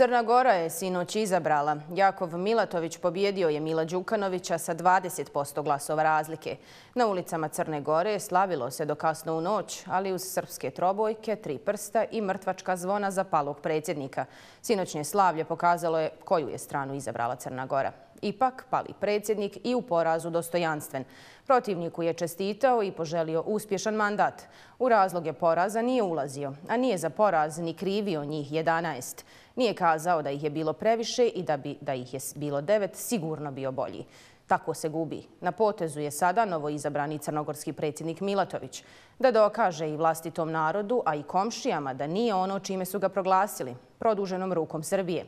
Crna Gora je sinoć izabrala. Jakov Milatović pobjedio je Mila Đukanovića sa 20% glasova razlike. Na ulicama Crne Gore slavilo se do kasno u noć, ali uz srpske trobojke, 3 prsta i mrtvačka zvona za palog predsjednika. Sinoćnje slavlje pokazalo je koju je stranu izabrala Crna Gora. Ipak, pali predsjednik i u porazu dostojanstven. Protivniku je čestitao i poželio uspješan mandat. U razloge poraza nije ulazio, a nije za poraz ni krivio njih 11. Nije kazao da ih je bilo previše i da ih je bilo 9 sigurno bio bolji. Tako se gubi. Na potezu je sada novoizabrani crnogorski predsjednik Milatović da dokaže i vlastitom narodu, a i komšijama da nije ono čime su ga proglasili, produženom rukom Srbije.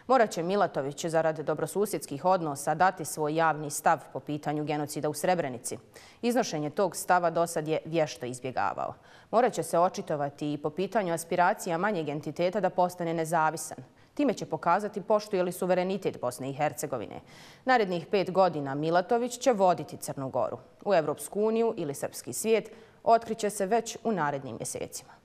Morat će Milatović zarad dobrosusjedskih odnosa dati svoj javni stav po pitanju genocida u Srebrenici. Iznošenje tog stava dosad je vješto izbjegavao. Morat će se očitovati i po pitanju aspiracija manjeg entiteta da postane nezavisan. Time će pokazati poštuje li suverenitet Bosne i Hercegovine. Narednih 5 godina Milatović će voditi Crnu Goru. U Evropsku uniju ili srpski svijet otkriće se već u narednim mjesecima.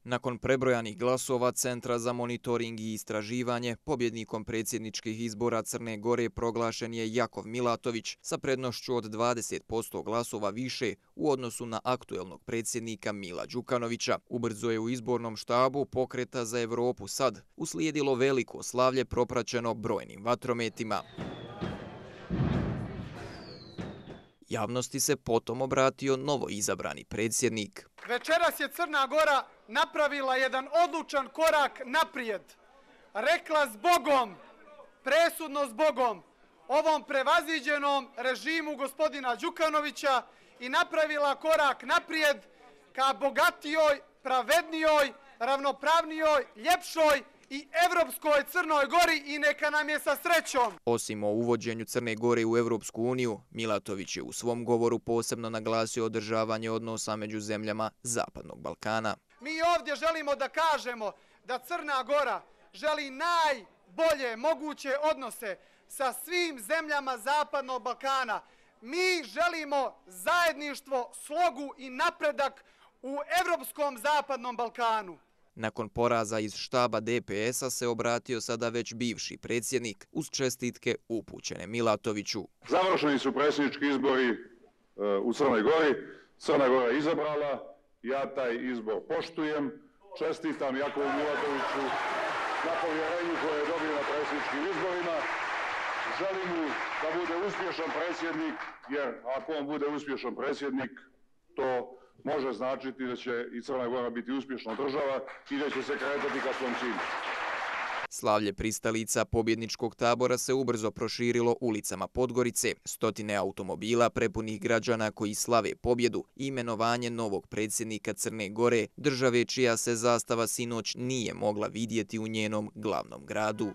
Nakon prebrojanih glasova Centra za monitoring i istraživanje, pobjednikom predsjedničkih izbora Crne Gore proglašen je Jakov Milatović sa prednošću od 20% glasova više u odnosu na aktuelnog predsjednika Mila Đukanovića. Ubrzo je u izbornom štabu Pokreta za Evropu SAD uslijedilo veliko slavlje propraćeno brojnim vatrometima. Javnosti se potom obratio novoizabrani predsjednik. Večeras je Crna Gora napravila jedan odlučan korak naprijed. Rekla zbogom, presudno zbogom, ovom prevaziđenom režimu gospodina Đukanovića i napravila korak naprijed ka bogatijoj, pravednijoj, ravnopravnijoj, ljepšoj i evropskoj Crnoj Gori i neka nam je sa srećom. Osim o uvođenju Crne Gore u Evropsku uniju, Milatović je u svom govoru posebno naglasio održavanje odnosa među zemljama Zapadnog Balkana. Mi ovdje želimo da kažemo da Crna Gora želi najbolje moguće odnose sa svim zemljama Zapadnog Balkana. Mi želimo zajedništvo, slogu i napredak u evropskom Zapadnom Balkanu. Nakon poraza iz štaba DPS-a se obratio sada već bivši predsjednik uz čestitke upućene Milatoviću. Završeni su predsjednički izbori u Crnoj Gori. Crna Gora je izabrala. Ja taj izbor poštujem. Čestitam Jakovu Milatoviću na povjerenju koje je dobio na predsjedničkim izborima. Želim mu da bude uspješan predsjednik, jer ako on bude uspješan predsjednik, to može značiti da će i Crna Gora biti uspješna država i da će se kretati ka svom cilju. Slavlje pristalica pobjedničkog tabora se ubrzo proširilo ulicama Podgorice. Stotine automobila prepunih građana koji slave pobjedu i imenovanje novog predsjednika Crne Gore, države čija se zastava sinoć nije mogla vidjeti u njenom glavnom gradu.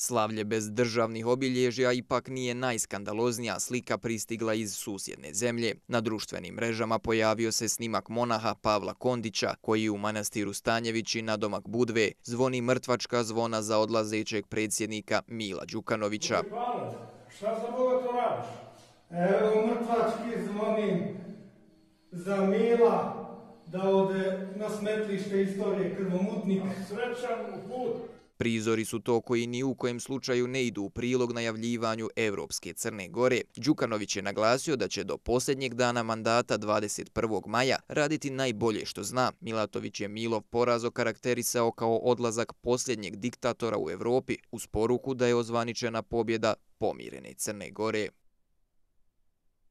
Slavlje bez državnih obilježja ipak nije najskandaloznija slika pristigla iz susjedne zemlje. Na društvenim mrežama pojavio se snimak monaha Pavla Kondića, koji u manastiru Stanjevići na domak Budve zvoni mrtvačka zvona za odlazećeg predsjednika Mila Đukanovića. Šta za Boga to radiš? Evo mrtvački zvonim za Mila da ode na smetlište istorije krvomutnik. Srećan put! Prizori su to koji ni u kojem slučaju ne idu u prilog najavljivanju Evropske Crne Gore. Đukanović je naglasio da će do posljednjeg dana mandata 21. maja raditi najbolje što zna. Milatović je Milov poraz okarakterisao kao odlazak posljednjeg diktatora u Evropi uz poruku da je ozvaničena pobjeda pomirene Crne Gore.